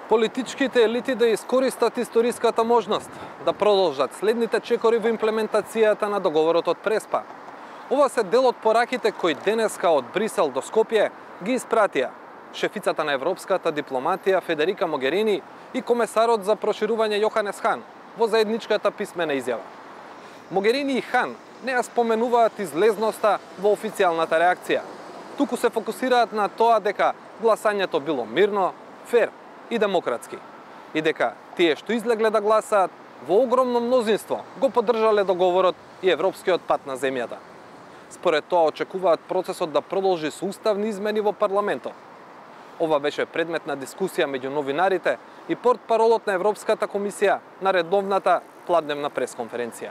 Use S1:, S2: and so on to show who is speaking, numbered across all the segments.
S1: Политичките елити да искористат историската можност да продолжат следните чекори во имплементацијата на договорот од Преспа. Ова се дел од пораките кои денеска од Брисел до Скопје ги испратија шефицата на европската дипломатија Федерика Могерини и комесарот за проширување Јоханес Хан во заедничката писмена изјава. Могерини и Хан не ја споменуваат излезноста во официјалната реакција, туку се фокусираат на тоа дека гласањето било мирно, фер и демократски, и дека тие што излегле да гласаат во огромно мнозинство го поддржале договорот и европскиот пат на земјата. Според тоа очекуваат процесот да продолжи со уставни измени во парламентот. Ова беше предмет на дискусија меѓу новинарите и портпаролот на Европската комисија на редовната пладневна пресконференција.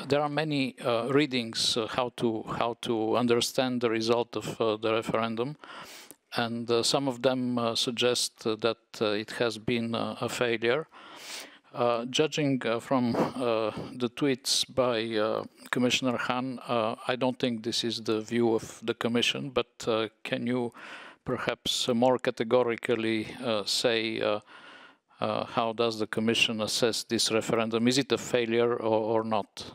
S2: There are many readings how to understand the result of the referendum, and some of them suggest that it has been a failure. Judging from the tweets by Commissioner Hahn, I don't think this is the view of the Commission, but can you perhaps more categorically say how does the Commission assess this referendum? Is it a failure or not?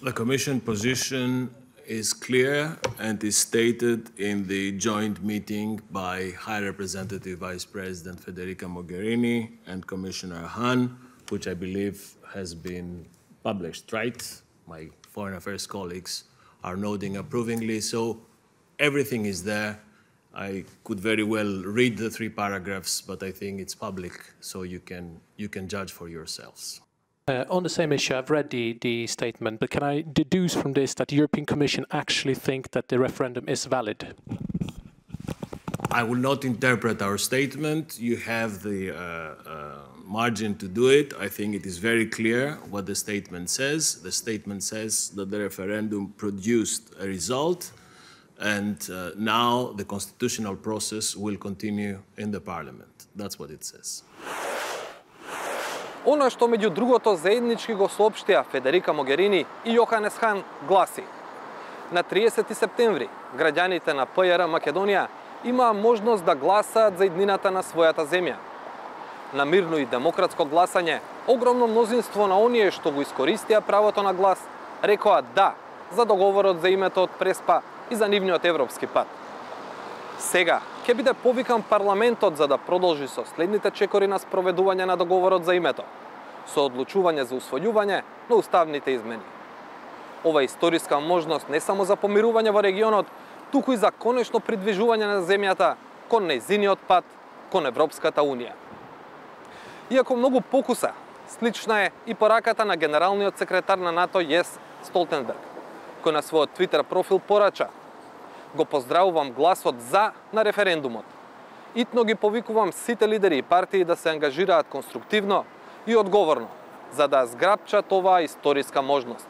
S3: The Commission position is clear and is stated in the joint meeting by High Representative Vice President Federica Mogherini and Commissioner Hahn, which I believe has been published, right? My foreign affairs colleagues are nodding approvingly, so everything is there. I could very well read the 3 paragraphs, but I think it's public, so you can judge for yourselves.
S4: On the same issue, I've read the statement, but can I deduce from this that the European Commission actually think that the referendum is valid?
S3: I will not interpret our statement. You have the margin to do it. I think it is very clear what the statement says. The statement says that the referendum produced a result, and now the constitutional process will continue in the parliament. That's what it says.
S1: Оно што меѓу другото заеднички го соопштија Федерика Могерини и Јоханес Хан гласи: на 30 септември граѓаните на ПЈР Македонија имаа можност да гласаат за иднината на својата земја. На мирно и демократско гласање, огромно мнозинство на оние што го искористија правото на глас рекоа да за договорот за името од Преспа и за нивниот европски пат. Сега ќе биде повикан парламентот за да продолжи со следните чекори на спроведување на договорот за името, со одлучување за усвојување на уставните измени. Ова историска можност не само за помирување во регионот, туку и за конечно придвижување на земјата кон нејзиниот пат кон Европската Унија. Иако многу покуса, слична е и пораката на генералниот секретар на НАТО Јенс Столтенберг, кој на својот Твитер профил порача: го поздравувам гласот за на референдумот. Итно ги повикувам сите лидери и партии да се ангажираат конструктивно и одговорно, за да зграпчат оваа историска можност.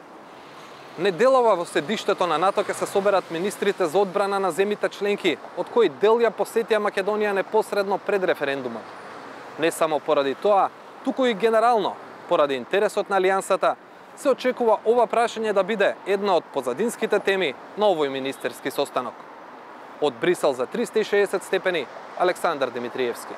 S1: Неделава во седиштето на НАТО ќе се соберат министрите за одбрана на земјите членки, од кои дел ја посетија Македонија непосредно пред референдумот. Не само поради тоа, туку и генерално, поради интересот на алијансата, се очекува ова прашање да биде една од позадинските теми на овој министерски состанок. Од Брисел за 360 степени, Александар Димитриевски.